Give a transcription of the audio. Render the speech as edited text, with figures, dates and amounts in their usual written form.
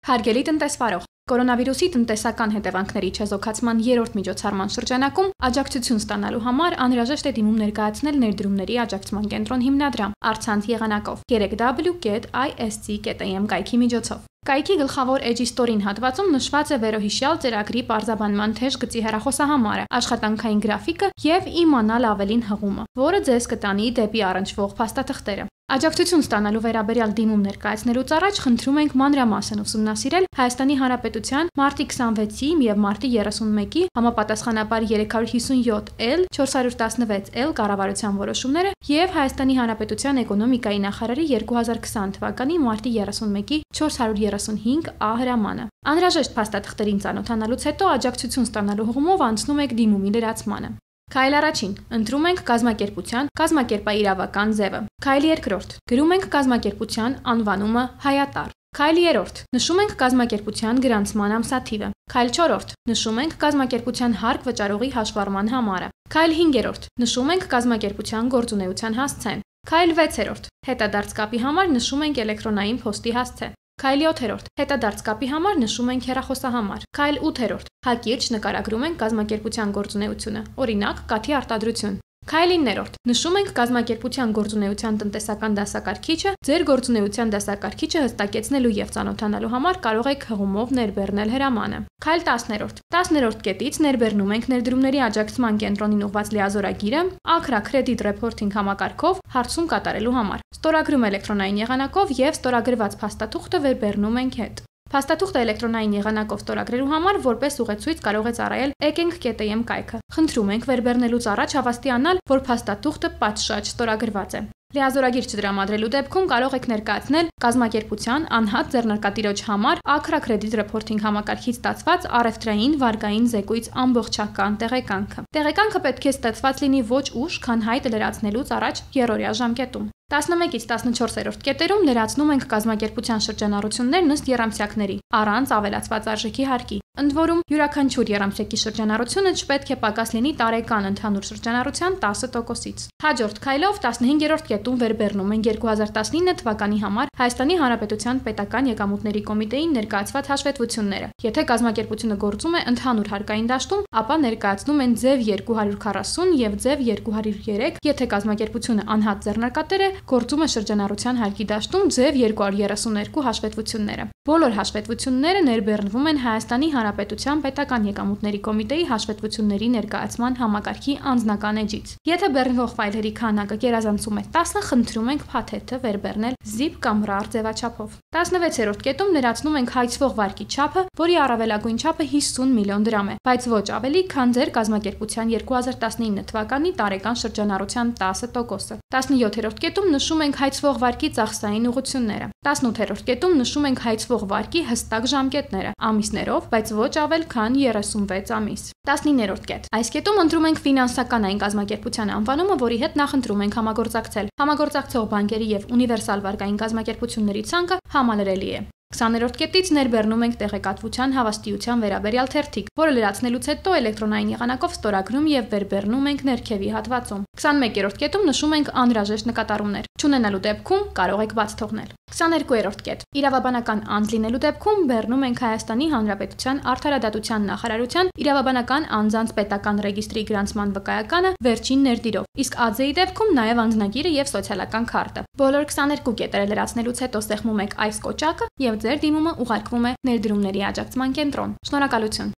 Հարգելի տնտեսվարող, կորոնավիրուսի տնտեսական հետևանքների չեզոքացման երրորդ միջոցառման շրջանակում աջակցություն ստանալու համար անհրաժեշտ է դիմում ներկայացնել ներդրումների աջակցման կենտրոն հիմնադրամ առցանց եղանակով 3w.isc.am կայքի միջոցով։ Կայքի գլխավոր էջի ստորին հատվածում նշված է վերոհիշյալ ծրագրի պարզաբանման թեժ գծի հեռախոսահամարը, աշխատանքային գրաֆիկը եւ իմանալ ավելին հղումը, որը ձեզ կտանի դեպի առնչվող փաստաթղթերը։ Աջակցություն ստանալու վերաբերյալ դիմում ներկայացնելուց առաջ խնդրում ենք մանրամասն ուսումնասիրել Հայաստանի Հանրապետության մարտի 26-ի եւ մարտի 31-ի համապատասխանաբար 357L 416L կառավարության որոշումները եւ Հայաստանի Հանրապետության էկոնոմիկայի նախարարի 2020 թվականի մարտի 31-ի 435A հրամանը։ Անհրաժեշտ փաստաթղթերին ծանոթանալուց հետո աջակցություն ստանալու հղումով անցնում եք դիմումի լրացմանը։ Քայլ առաջին. ընտրում ենք կազմակերպության կազմակերպաիրավական ձևը։ Քայլ երկրորդ. գրում ենք կազմակերպության անվանումը Հայատար։ Քայլ երրորդ. նշում ենք կազմակերպության գրանցման ամսաթիվը։ Քայլ չորրորդ. նշում ենք կազմակերպության հարկ վճարողի հաշվառման համարը։ Քայլ հինգերորդ. նշում ենք կազմակերպության գործունեության հասցեն։ Քայլ 6-րդ. հետադարձ կապի համար նշում ենք էլեկտրոնային փոստի հասցե։ Քայլ 7-րդ. հետադարձ կապի համար նշում ենք հեռախոսահամար։ Քայլ 8-րդ. հակիրճ նկարագրում ենք կազմակերպության գործունեությունը, օրինակ՝ կաթի արտադրություն։ Քայլ 9-րդ. նշում ենք կազմակերպության գործունեության տնտեսական դասակարգիչը, ձեր գործունեության դասակարգիչը հստակեցնելու եւ ծանոթանալու համար կարող եք հղումով ներբեռնել հրամանը։ Քայլ 10-րդ. 10-րդ կետից ներբեռնում ենք ներդրումների աջակցման կենտրոնին ուղղված լիազորագիրը Accra Credit Reporting համակարգով հարցում կատարելու համար։ Ստորագրում էլեկտրոնային եղանակով եւ ստորագրված փաստաթուղթը վերբեռնում ենք հետ։ Փաստաթուղթը էլեկտրոնային եղանակով ստորագրելու համար որպես ուղեցույց կարող է ծառայել ekeng.am կայքը։ Խնդրում ենք վերբեռնելուց առաջ հավաստիանալ, որ փաստաթուղթը պատշաճ ստորագրված է։ Լիազորագիր չդրամադրելու դեպքում կարող եք ներկայացնել կազմակերպության անհատ ձեռնարկատիրոջ համար Accra Credit Reporting համակարգից ստացված առևտրային վարկային զեկույց ամբողջական տեղեկանքը։ Տեղեկանքը պետք է ստացված լինի ոչ ուշ, քան հայտը լրացնելուց առաջ երրորդյա ժամկետում։ 11-ից 14-րդ կետերում լրացնում ենք կազմակերպության շրջանառություններն ըստ եռամսյակների, առանց ավելացված արժեքի հարկի։ Ընդ որում, յուրաքանչյուր եռամսյակի շրջանառությունը չպետք է պակաս լինի տարեկան ընդհանուր շրջանառության 10%-ից։ Հաջորդ քայլով 15-րդ կետում վերբեռնում ենք 2019 թվականի համար Հայաստանի Հանրապետության պետական եկամուտների կոմիտեին ներկայացված հաշվետվությունները։ Եթե կազմակերպությունը գործում է ընդհանուր հարկային դաշտում, ապա ներկայացնում են ձև 240 եւ ձև 203, եթե կազմակերպությունը անհատ ձեռնարկատեր է, գործում է շրջանառության հարկի դաշտում ձև 232 հաշվետվությունները։ Բոլոր հաշվետվությունները ներբեռնվում են Հայաստանի Հանրապետության պետական եկամուտների կոմիտեի հաշվետվությունների ներկայացման համակարգի անձնական էջից։ Եթե բեռնվող ֆայլերի քանակը գերազանցում է 10, խնդրում ենք փաթեթը վերբեռնել zip կամ RAR ձևաչափով։ 16-րդ կետում լրացնում ենք հայցվող վարկի չափը, որի առավելագույն չափը 50 միլիոն դրամ է, բայց ոչ ավելի, քան ձեր կազմակերպության 2019 թվականի տարեկան շրջանառության 10%-ը։ 17-րդ կետում նշում ենք հայցվող վարկի ծախսային ուղղությունները։ 18-րդ կետում նշում ենք հայցվող վարկի հստակ ժամկետները, ամիսներով, բայց ոչ ավել քան 36 ամիս։ 19-րդ կետ։ Այս կետում ընտրում ենք ֆինանսականային կազմակերպության անվանումը, որի հետ նախընտրում ենք համագործակցել։ Համագործակցող բանկերի եւ ունիվերսալ վարկային կազմակերպությունների ցանկը համալրելի է։ 20-րդ կետից ներբեռնում ենք տեղեկատվության հավաստիության վերաբերյալ թերթիկ, որը լրացնելուց հետո էլեկտրոնային եղանակով ստորագրում եւ վերբեռնում ենք ներքևի հատվածում։ 21-րդ կետում նշում ենք անհրաժեշտ նկատառումներ։ Չունենալու դեպքում կարող եք բաց թողնել։ 22-րդ կետ։ Իրավաբանական անձ լինելու դեպքում բեռնում ենք Հայաստանի Հանրապետության Արդարադատության նախարարության իրավաբանական անձանց պետական ռեգիստրի գրանցման վկայականը վերջին ներդիրով, իսկ ԱԶ-ի դեպքում նաեւ անձնագիրը եւ սոցիալական քարտը։ Բոլոր 22 կետերը լրացնելուց հետո սեղմում եք այս կոճակը եւ ձեր դիմումը ուղարկվում է ներդրումների աջակցման կենտրոն։ Շնորհակալություն։